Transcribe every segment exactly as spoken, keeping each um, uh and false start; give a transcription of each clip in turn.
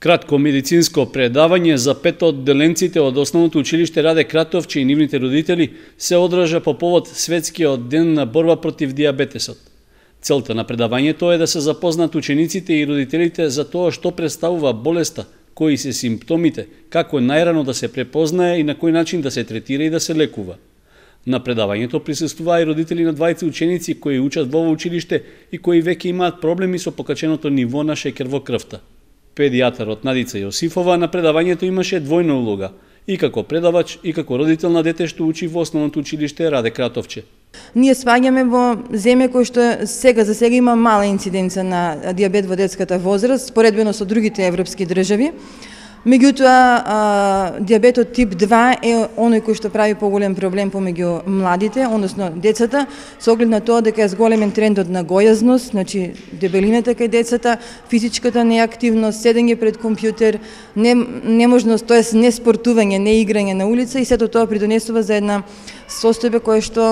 Кратко медицинско предавање за пет од одделенците од Основното училиште Раде Кратовче и нивните родители се одржа по повод Светскиот ден на борба против дијабетесот. Целта на предавањето е да се запознат учениците и родителите за тоа што представува болеста, кои се симптомите, како најрано да се препознае и на кој начин да се третира и да се лекува. На предавањето присуствуваа и родители на двајца ученици кои учат во ово училиште и кои веќе имаат проблеми со покаченото ниво на шеќер во крвта. Педијатарот Надица Јосифова на предавањето имаше двојна улога, и како предавач и како родител на дете што учи во Основното училиште Раде Кратовче. Ние сваѓаме во земја кој што сега за сега има мала инциденца на дијабет во детската возраст, споредбено со другите европски држави. Меѓутоа, дијабетот тип два е оној кој што прави поголем проблем помеѓу младите, односно децата, со оглед на тоа дека е зголемен трендот на гојазност, значи дебелината кај децата, физичката неактивност, седење пред компјутер, не, неможност, тоест не спортување, не играње на улица и сето тоа придонесува за една состојба која што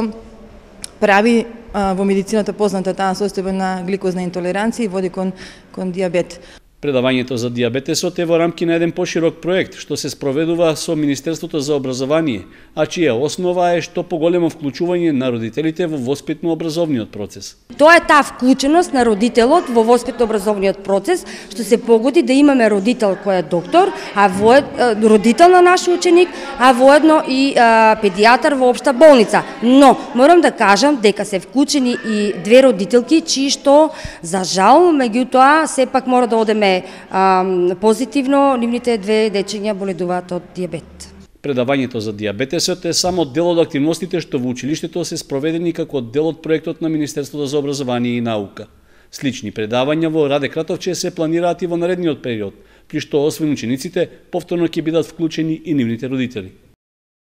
прави а, во медицината позната таа состојба на гликозна интолеранција и води кон, кон дијабет. Предавањето за дијабетесот е во рамки на еден поширок проект што се спроведува со Министерството за образование, а чија основа е што поголемо вклучување на родителите во воспитно-образовниот процес. Тоа е таа вклученост на родителот во воспитно-образовниот процес, што се погоди да имаме родител кој е доктор, а во родител на наш ученик, а воедно и а, педијатар во општа болница. Но морам да кажам дека се вклучени и две родителки чии што за жал меѓутоа сепак мора да одеме А, позитивно, нивните две дечиња боледуваат од дијабет. Предавањето за дијабетесот е само дел од активностите што во училиштето се спроведени како дел од проектот на Министерството за образование и наука. Слични предавања во Раде Кратовче се планираат и во наредниот период, при што освен учениците, повторно ќе бидат вклучени и нивните родители.